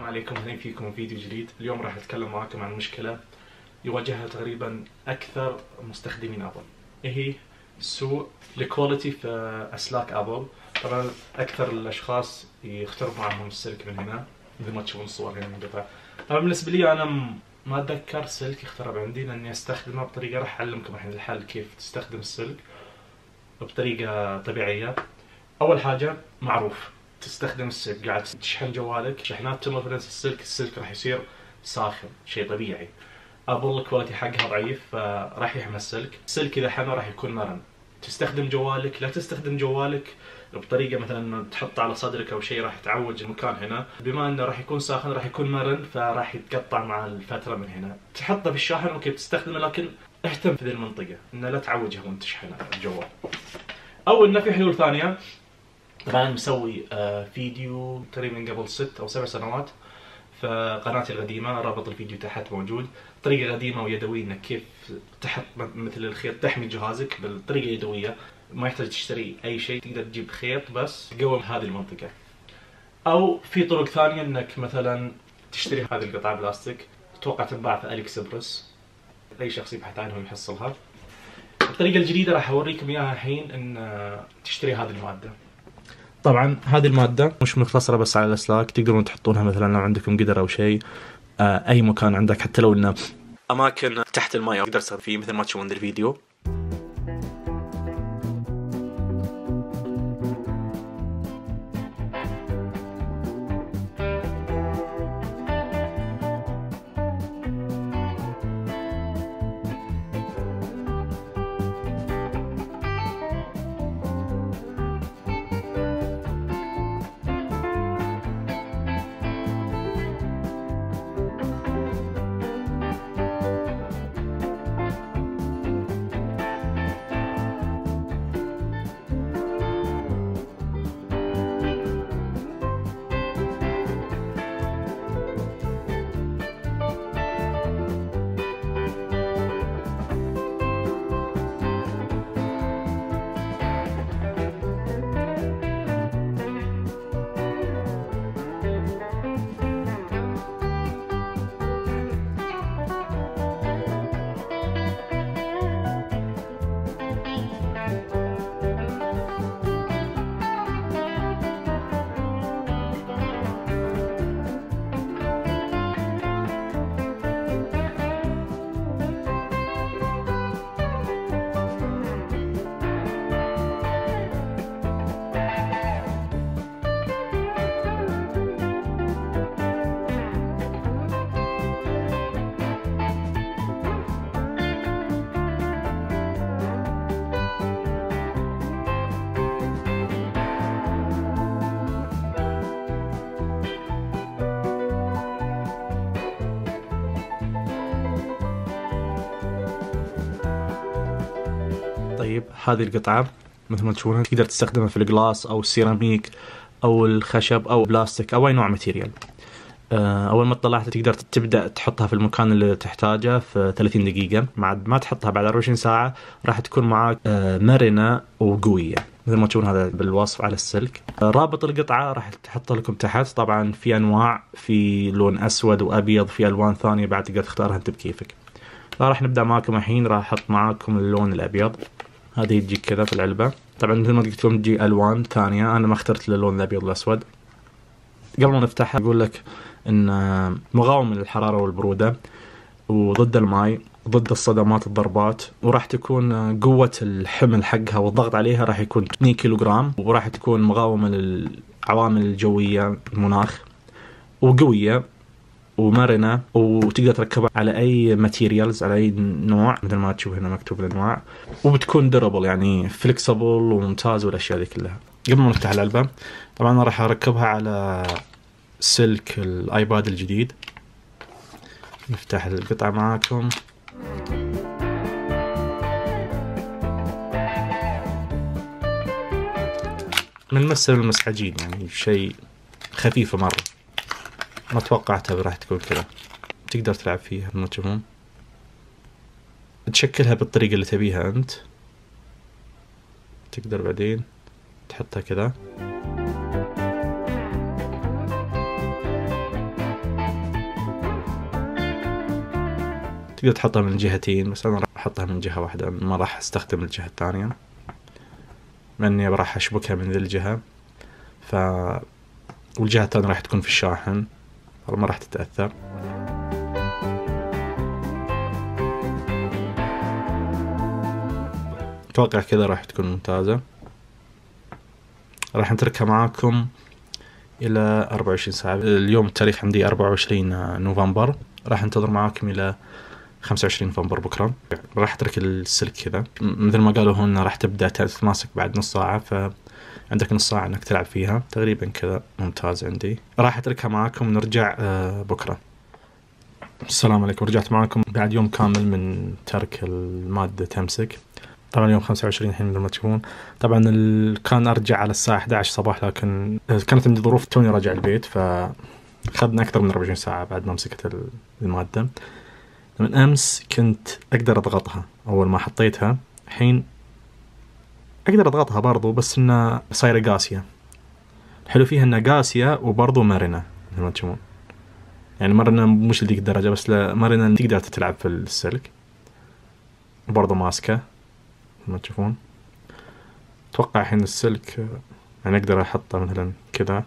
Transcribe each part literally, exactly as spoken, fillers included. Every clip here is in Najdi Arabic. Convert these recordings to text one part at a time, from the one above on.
عليكم، اهلا فيكم فيديو جديد. اليوم راح اتكلم معاكم عن مشكلة يواجهها تقريبا اكثر مستخدمين ابل. ايه هي؟ سوء الكواليتي في اسلاك ابل. طبعا اكثر الاشخاص يخترب معهم السلك من هنا مثل ما تشوفون الصور هنا منقطع. طبعا بالنسبة لي انا ما اتذكر سلك يخترب عندي لاني استخدمه بطريقة راح اعلمكم الحين الحل كيف تستخدم السلك بطريقة طبيعية. اول حاجة معروف تستخدم السلك قاعد تشحن جوالك شحنات تمر في نفس السلك، السلك راح يصير ساخن، شيء طبيعي. ابل الكواليتي حقها ضعيف فراح يحمل السلك، السلك اذا حمى راح يكون مرن. تستخدم جوالك، لا تستخدم جوالك بطريقه مثلا تحطه على صدرك او شيء راح تعوج المكان هنا، بما انه راح يكون ساخن راح يكون مرن فراح يتقطع مع الفتره من هنا. تحطه في الشاحن اوكي بتستخدمه، لكن اهتم في ذي المنطقه انه لا تعوجها وانت تشحن الجوال. او انه في حلول ثانيه. طبعا مسوي فيديو تقريبا قبل ست او سبع سنوات في قناتي القديمه، رابط الفيديو تحت موجود. طريقه قديمه ويدويه انك كيف تحط مثل الخيط تحمي جهازك بالطريقه يدويه، ما يحتاج تشتري اي شيء، تقدر تجيب خيط بس تقوم هذه المنطقه. او في طرق ثانيه انك مثلا تشتري هذه القطعه بلاستيك، اتوقع تنباع في اليكسبرس، اي شخص يبحث عنها يحصلها. الطريقه الجديده راح اوريكم اياها الحين، ان تشتري هذه الماده. طبعا هذه المادة مش مقتصرة بس على الأسلاك، تقدرون تحطونها مثلا لو عندكم قدر أو شيء، آه أي مكان عندك، حتى لو إنه أماكن تحت الماء تقدر تستخدم فيه مثل ما تشوفون الفيديو. طيب هذه القطعة مثل ما تشوفونها تقدر تستخدمها في الجلاس او السيراميك او الخشب او بلاستيك او اي نوع ماتيريال. اول ما طلعتها تقدر تبدا تحطها في المكان اللي تحتاجه في ثلاثين دقيقة، بعد ما تحطها بعد أربعة وعشرين ساعة راح تكون معك مرنة وقوية مثل ما تشوفون هذا بالوصف على السلك. رابط القطعة راح تحط لكم تحت. طبعا في انواع، في لون اسود وابيض، في الوان ثانية بعد تقدر تختارها انت بكيفك. فراح نبدا معكم الحين، راح احط معاكم اللون الابيض. هذه تجيك كذا في العلبة. طبعا مثل ما قلت لكم تجي الوان ثانية، انا ما اخترت اللون الابيض والاسود. قبل ما نفتحها اقول لك ان مقاوم للحرارة والبرودة وضد الماء، ضد الصدمات الضربات، وراح تكون قوة الحمل حقها والضغط عليها راح يكون اثنين كيلو جرام، وراح تكون مقاومة للعوامل الجوية المناخ، وقوية ومرنة، وتقدر تركبها على اي ماتيريالز، على اي نوع مثل ما تشوف هنا مكتوب الانواع، وبتكون دربل يعني فليكسبل وممتاز والاشياء دي كلها. قبل ما نفتح العلبة طبعا انا راح اركبها على سلك الايباد الجديد. نفتح القطعة معاكم. من مس المسحجين يعني شيء خفيفة مرة، ما توقعتها راح تكون كذا. تقدر تلعب فيها ما تشوفون، تشكلها بالطريقة اللي تبيها انت. تقدر بعدين تحطها كذا. تقدر تحطها من الجهتين، بس أنا راح أحطها من جهة واحدة، ما راح أستخدم الجهة الثانية لأني راح أشبكها من ذي الجهة، ف والجهة الثانية راح تكون في الشاحن ما راح تتأثر. أتوقع كذا راح تكون ممتازة. راح نتركها معاكم إلى أربعة وعشرين ساعة. اليوم التاريخ عندي أربعة وعشرين نوفمبر، راح انتظر معاكم إلى خمسة وعشرين نوفمبر بكرة. راح أترك السلك كذا مثل ما قالوا هنا، راح تبدأ تتماسك بعد نص ساعة، فعندك نص ساعة إنك تلعب فيها تقريبا كذا. ممتاز. عندي راح أتركها معاكم ونرجع بكرة. السلام عليكم، رجعت معاكم بعد يوم كامل من ترك المادة تمسك. طبعا اليوم خمسة وعشرين الحين مثل ما تشوفون. طبعا كان أرجع على الساعة إحدى عشر صباح، لكن كانت عندي ظروف توني راجع البيت، فأخذنا أكثر من أربعة وعشرين ساعة بعد ما مسكت المادة. من أمس كنت أقدر أضغطها أول ما حطيتها، الحين أقدر أضغطها برضو، بس إنها صايرة قاسية. الحلو فيها إنها قاسية وبرضو مرنة مثل ما تشوفون، يعني مرنة مش لذيك الدرجة، بس لا مرنة تقدر تلعب في السلك، وبرضو ماسكة ما تشوفون. أتوقع الحين السلك يعني أقدر أحطه مثلا كذا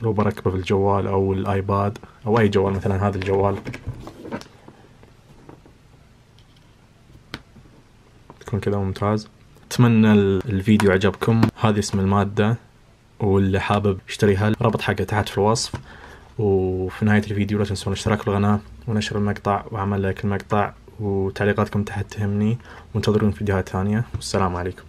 لو بركبه في الجوال أو الآيباد أو أي جوال، مثلا هذا الجوال تكون كذا ممتاز. أتمنى الفيديو عجبكم. هذه اسم المادة، واللي حابب يشتريها رابط حقها تحت في الوصف. وفي نهاية الفيديو لا تنسون الاشتراك في القناة ونشر المقطع وعمل لايك المقطع، وتعليقاتكم تحت تهمني، وانتظرون فيديوهات ثانية. والسلام عليكم.